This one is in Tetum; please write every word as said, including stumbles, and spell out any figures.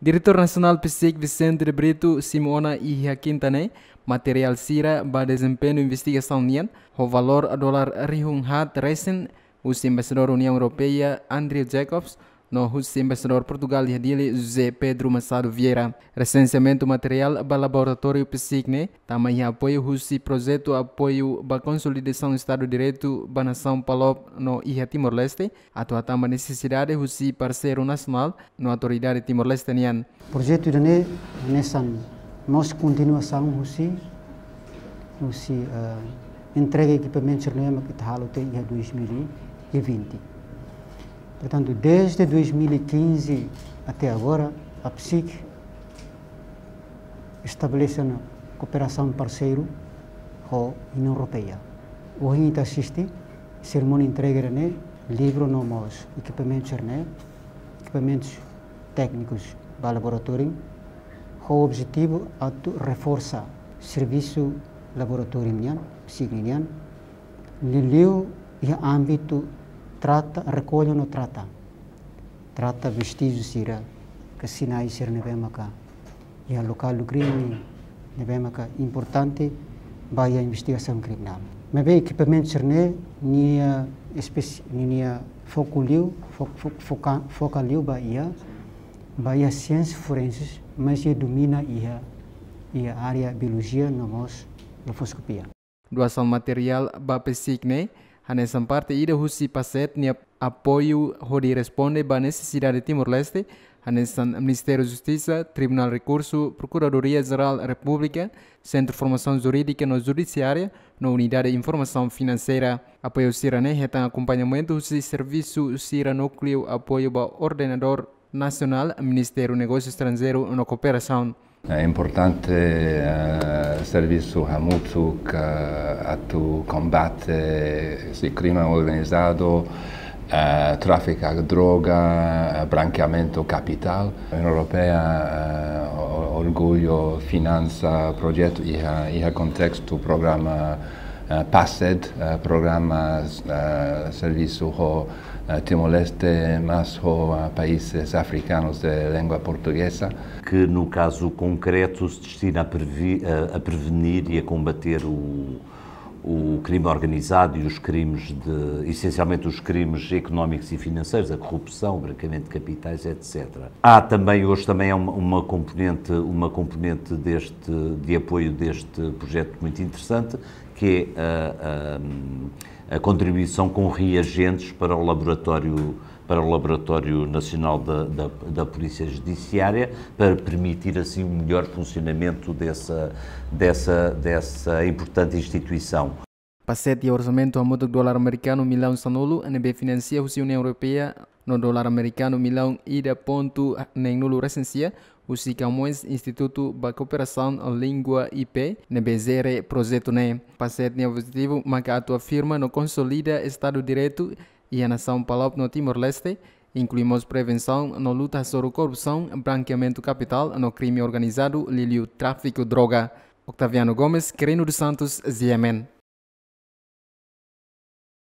Diretór Nasionál PCIC Vicente de Brito simu ona iha Kinta ne'e materiál sira ba dezempeñu investigasaun nian, ho valór dolar rihun haat resin, husi Embaixadór Uniaun Europeia Andrew Jacobs, no husi Embaixadór Portugál iha Dili José Pedro Machado Vieira. Resenseamentu materiál ba laboratóriu PCIC ne'e tama iha apoiu husi projetu apoiu ba konsolidasaun Estadu Direitu ba nasaun PALOP no iha Timor-Leste, atu hatán ba nesesidade husi parseiru nasionál no autoridade Timor-Leste nian. Projetu ida-ne'e hanesan mós kontinuasaun husi, husi, eh, entrega ekipamentu sira-ne'e mak ita halo to'o iha dois mil e vinte. Portantu, desde dois mil e quinze até agora, a PCIC estabelese ona kooperasaun parseiru ho Uniaun Europeia. Ohin ita asiste serimónia entrega ne'e, livru no mós ekipamentu sira-ne'e, ekipamentus téknikus ba laboratóriu, ho objetivu atu reforsa servisu laboratóriu nian, PCIC nian, liuliu iha ámbitu trata, rekolla no trata. Trata vestíjiu sira, ka sinais sira ne'ebé maka iha lokál do krime, ne'ebé maka importante ba iha investigasaun kriminál. Maibé ekipamentu sira-ne'e nia espesi-, nia foku liu, fo-, fo-, foka-, foka liu ba iha, ba iha siénsia forense, mas nia domina iha, iha área biolojia no mós grafoskopia. Doasaun materiál ba PCIC ne'e hanesan parte ida husi PACET nia apoiu hodi responde ba nesesidade Timor-Leste, hanesan Ministériu Justisa, Tribunál Rekursu, Prokuradoria Jerál Repúblika, Sentru Formasaun Jurídika no Judisiária, no Unidade Informasaun Finanseira. Apoiu sira-ne'e hetan akompañamentu husi servisu sira núkliu apoiu ba ordenadór nasionál, Ministériu Negósiu Estranjeiru no Kooperasaun. É importante, eh, servisu hamutuk, eh, atu kombate husi krime organizadu, eh, tráfiku droga, eh, brankeamentu kapitál. Uniaun Europeia, eh, o-, orgullu finansia projetu iha, iha kontestu programa, eh, PACET, eh, programa, eh, servisu ho, eh, Timor-Leste, mas ho, eh, países afrikanus de língua portugeza. Que, no caso concreto, se destina a previ-, a, a prevenir e a combater o, o crime organizado e os crimes de, essencialmente os crimes económicos e financeiros, a corrupção, o branqueamento de capitais, etcétera. Há também, hoje também é uma, uma componente, uma componente deste, de apoio deste projeto muito interessante, que é a, a, a contribuição com reagentes para o laboratório, para o Laboratório Nacional da, da, da Polícia Judiciária, para permitir assim um melhor funcionamento dessa, dessa, dessa importante instituição. PACET iha orsamentu hamutuk dolar amerikanu millaun sanulu, ne'ebé finansia husi Uniaun Europeia, no dolar amerikanu millaun ida pontu neenulu resin sia, husi Camões Institutu ba Kooperasaun Língua I P, ne'ebé jere projetu ne'e. PACET nia objetivu maka atu afirma no konsolida Estadu Direitu iha nasaun PALOP no Timor-Leste, inklui mós prevensaun no luta hasoru korrupsaun, brankeamentu kapitál no krime organizadu, liuliu tráfiku droga. Octaviano Gomes, Quirino dos Santos, G M N.